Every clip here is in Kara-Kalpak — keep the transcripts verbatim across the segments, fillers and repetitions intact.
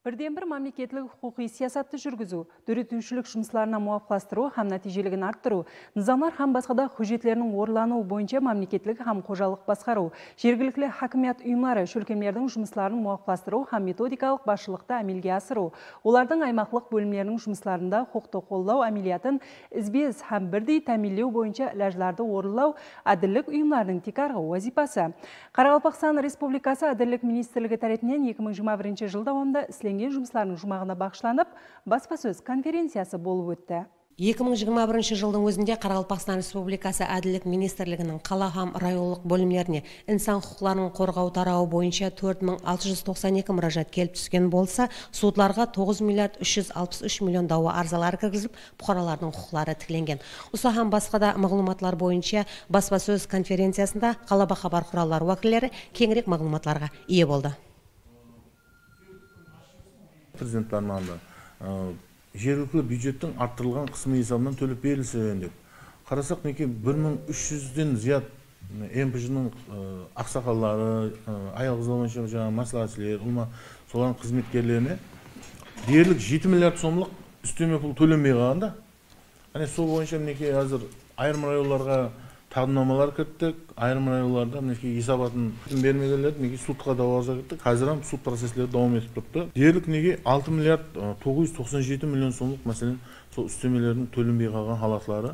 Birden-bir mámleketlik huqıqiy siyasattı júrgiziw, dóretiwshilik jumıslarına muwapıqlastırıw hám nátiyjeligin arttırıw, nızamlar hám basqa da hújjetleriniń orınlanıwı boyınsha mámleketlik hám xojalıq basqarıw, jergilikli hákimiyat uyımları, shólkemlerdiń jumısların muwapıqlastırıw hám metodikalıq basshılıqtı ámelge asırıw, olardıń aymaqlıq bólimleriniń jumıslarında huqıqtı qollaw ámeliyatın izbe-iz hám birdey támiyinlew boyınsha ilajlardı orınlaw ádillik uyımlarınıń tiykarǵı wazıypası. Qaraqalpaqstan Respublikası Ádillik ministrligi tárepinen eki mıń jigirma birinshi jıl dawamında islengen jumıslardıń juwmaǵına baǵıshlanıp baspasóz konferenciyası bolıp ótti. Eki mıń jigirma birinshi jıldıń ózinde Qaraqalpaqstan Respublikası Ádillik ministrliginiń qala hám rayonlıq bólimlerine insan huqıqların qorǵaw tarawı boyınsha tórt mıń altı júz toqsan eki múrájat kelip túsken bolsa, sudlarǵa toǵız milliard úsh júz alpıs úsh million dawa arzaları kirgizilip, puqaralardıń huqıqları tiklengen. Usı hám basqa da maǵlıwmatlar boyınsha baspasóz konferenciyasında ǵalaba xabar quralları wákilleri keńirek maǵlıwmatlarǵa iye boldı. Prezident pármanında, ı, jergilikli byudjettiń arttırılǵan qısımı esabınan tólep berilsin dep. Qarasaq, minekey, bir mıń úsh júzden zıyat M P J-nıń, ı, aqsaqalları, ı, ayal-qızlar boyınsha jańa másláhátshılar, ulıwma solardıń xızmetkerlerine derlik jeti milliard somlıq ústeme pul tólenbey qalǵan da. Áne, sol boyınsha, minekey, házir ayırım rayonlarǵa taqdimnamalar kirittik, ayırım rayonlarda, minekey, esabatın bermegenlerdi, minekey, sudqa dawa arza kirittik. Házir hám sud processleri dawam etip turıptı. Derlik, minekey, altı milliard, ı, toǵız júz toqsan jeti million somlıq, máselen, sol ústemelerdiń tólenbey qalǵan halatları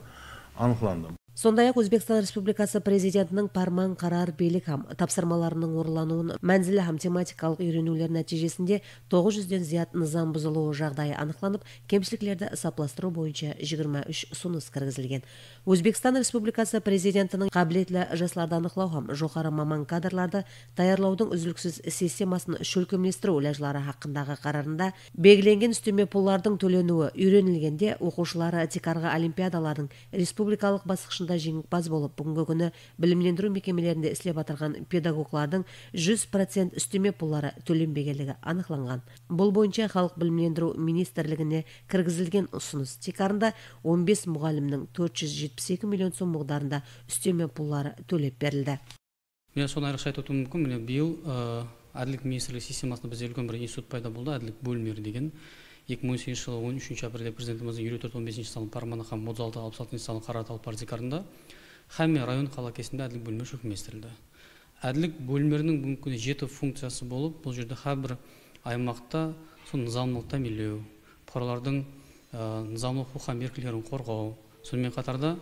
anıqlandı. Sonday-aq, Ózbekstan Respublikası Prezidentiniń párman, qarar, biylik hám tapsırmalarınıń orınlanıwın, mánzili hám tematikalıq úyreniwler nátiyjesinde toǵız júzden zıyat nızam buzılıwı jaǵdayı anıqlanıp, kemshiliklerdi esaplastırıw boyınsha jigirma úsh usınıs kirgizilgen. Ózbekstan Respublikası Prezidentiniń qábiletli jaslardı anıqlaw hám joqarı maman kadrlardı tayarlawdıń úzliksiz sistemasın shólkemlestiriw ilajları haqqındaǵı qararında belgilengen ústeme pullardıń tóleniwi úyrenilgende, oqıwshıları tiykarǵı olimpiadalardıń respublikalıq basqıshında jeńimpaz bolıp, búgingi kúni bilimlendiriw mekemelerinde islep atırǵan pedagoglardıń júz procent ústeme pulları tólenbegenligi anıqlanǵan. Bul boyınsha Xalıq bilimlendiriw ministrligine kirgizilgen usınıs tiykarında on bes muǵallimniń tórt júz jetpis eki million som muǵdarında ústeme pulları tólep berildi. Mine, sonı ayrıqsha aytıp ótiw múmkin. Mine, bıyıl, ı, Ádillik ministrligi sistemasında bizde úlken bir institut payda boldı, ádillik bólimleri degen. Eki mıń on segizinshi jılı on úshinshi aprelde Prezidentimizdiń eliw tórt on besinshi sanlı pármanı hám otız altı alpıs altınshı sanlı qararı talapları tiykarında hámme rayon, qala kesimde ádillik bólimleri shólkemlestirildi. Ádillik bólimleriniń búgingi kúni jeti funkciyası bolıp, bul jerde hár bir aymaqta sol nızamlılıqtı támiyinlew, puqaralardıń, ı, nızamlıq huqıq hám erkinliklerin qorǵaw, sonıń menen qatarda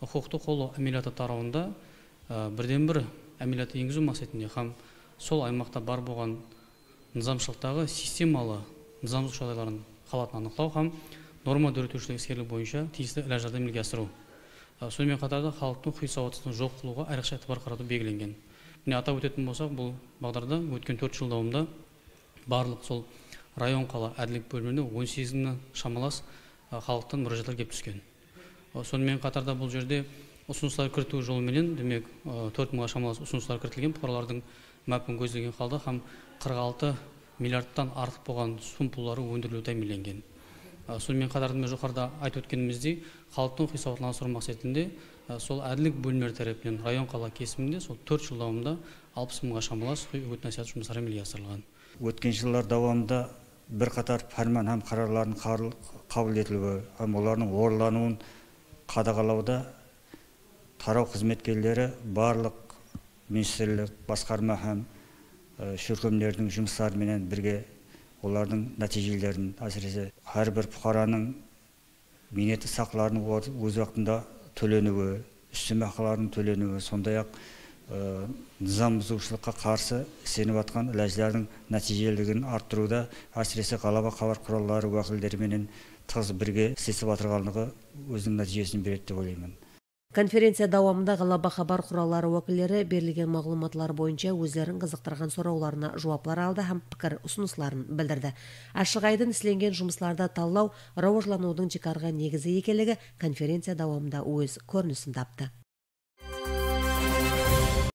huqıqtı qollaw ámeliyatı tarawında, ı, birden-bir ámeliyattı engiziw maqsetinde hám sol aymaqta bar bolǵan nızamshılıqtaǵı sistemalı nızamsızlıq jaǵdayların, halatın anıqlaw hám norma dóretiwshilik iskerligi boyınsha tiyisli ilajlardı ámelge asırıw. I, sonıń menen qatarda xalıqtıń huqıqıy sawatsızlıǵın joq qılıwǵa ayrıqsha itibar qaratıw belgilengen. Mine, atap ótetuǵın bolsaq, bul baǵdarda ótken tórt jıl dawamında barlıq sol rayon, qala ádillik bólimlerine on segiz mıńnan shamalas, ı, xalıqtan múrájatlar kelip túsken. I, sonıń menen qatarda bul jerde usınıslar kiritiw jolı menen, demek, ı, tórt mıńǵa shamalas usınıslar kiritilgen, puqaralardıń mápin kózlegen halda hám qırq altı milliardtan artıq bolǵan sum pulları óndiriliwi támiyinlengen. I, sonıń menen qatarda, mine, joqarıda aytıp ótkenimizdey, xalıqtıń huqıqıy sawatlanıstırıw maqsetinde, ı, sol ádillik bólimleri tárepinen rayon, qala kesiminde sol tórt jıl dawamında alpıs mıńǵa shamalas huqıqıy úgit-násiyat jumısları ámelge asırılǵan. Ótken jıllar dawamında bir qatar párman hám qararlardıń qarıl-, qabıl etiliwi hám olardıń orınlanıwın qadaǵalawda taraw xızmetkerleri barlıq ministrlik, basqarma hám, e, shólkemlerdiń jumısları menen birge olardıń nátiyjelerin, ásirese, hár bir puqaranıń miynetli saqlarınıń or-, óz waqtında tóleniwi, ústeme haqılarınıń tóleniwi, sonday-aq, e, nızam buzıwshılıqqa qarsı islenip atqan ilajlardıń nátiyjeliligin arttırıwda, ásirese, ǵalaba xabar quralları wákilleri menen tıǵız birge islesip atırǵanlıǵı óziniń nátiyjesin beredi dep oylayman. Konferenciya dawamında ǵalaba xabar quralları wákilleri berilgen maǵlıwmatlar boyınsha ózlerin qızıqtırǵan sorawlarına juwaplar aldı hám pikir usınısların bildirdi. Ashıq-aydın islengen jumıslardı tallaw rawajlanıwdıń tiykarǵı negizi ekenligi konferenciya dawamında óz kórinisin taptı.